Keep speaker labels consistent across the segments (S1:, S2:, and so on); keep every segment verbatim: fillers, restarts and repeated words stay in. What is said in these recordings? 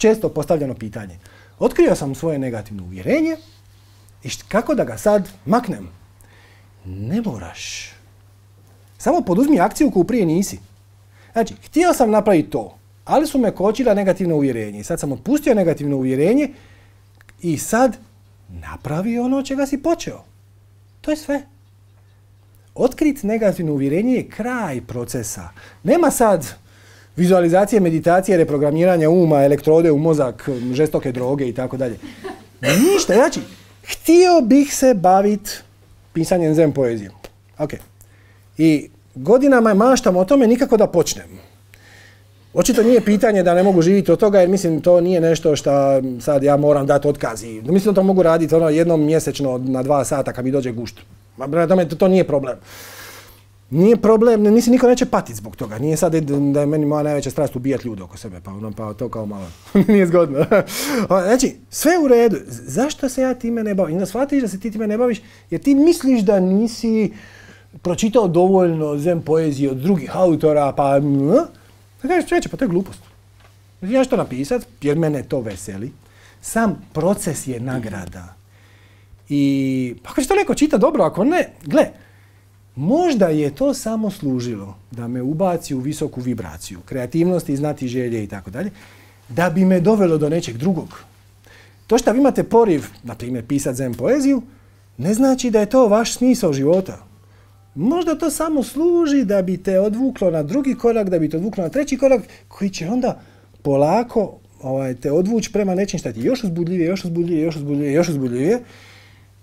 S1: često postavljeno pitanje. Otkrio sam svoje negativno uvjerenje i kako da ga sad maknem? Ne moraš. Samo poduzmi akciju koju prije nisi. Znači, htio sam napraviti to, ali su me kočila negativno uvjerenje. I sad sam otpustio negativno uvjerenje i sad napravi ono čega si počeo. To je sve. Otkriti negativno uvjerenje je kraj procesa. Nema sad vizualizacije, meditacije, reprogramiranja uma, elektrode u mozak, žestoke droge i tako dalje. Ništa. Znači, htio bih se baviti pisanjem zen poezije. Ok. I godinama maštam o tome nikako da počnem. Očito nije pitanje da ne mogu živjeti od toga, jer mislim to nije nešto što sad ja moram dati otkaz. Mislim da to mogu raditi ono jednom mjesečno na dva sata kad mi dođe gušt. To, to nije problem. Nije problem, mislim niko neće patiti zbog toga. Nije sad da je meni moja najveća strast ubijati ljude oko sebe, pa, ono, pa to kao malo nije zgodno. Znači, sve u redu. Zašto se ja time ne bavim? I da shvatiš da se ti time ne baviš, jer ti misliš da nisi pročitao dovoljno zen poezije od drugih autora, pa... Da kažeš, čovječe, pa to je glupost. Ja ću to napisat, jer mene to veseli. Sam proces je nagrada. I ako će to neko čita dobro, ako ne, gle, možda je to samo služilo da me ubaci u visoku vibraciju, kreativnosti, znati želje i tako dalje, da bi me dovelo do nečeg drugog. To što vi imate poriv, na primjer, pisati zen poeziju, ne znači da je to vaš smisao života. Možda to samo služi da bi te odvuklo na drugi korak, da bi te odvuklo na treći korak, koji će onda polako ovaj, te odvući prema nečim što ti je još uzbudljivije, još uzbudljivije, još uzbudljivije, još uzbudljivije,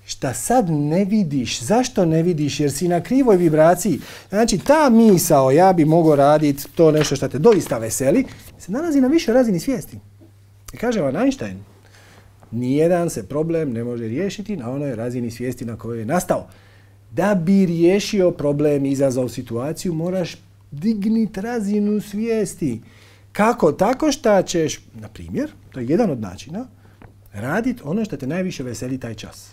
S1: šta sad ne vidiš. Zašto ne vidiš? Jer si na krivoj vibraciji. Znači, ta misao, ja bi mogao raditi to nešto što te doista veseli, se nalazi na višoj razini svijesti. I kaže vam Einstein, nijedan se problem ne može riješiti na onoj razini svijesti na kojoj je nastao. Da bi riješio problem i izazvao situaciju, moraš digniti razinu svijesti. Kako? Tako što ćeš, na primjer, to je jedan od načina, raditi ono što te najviše veseli taj čas.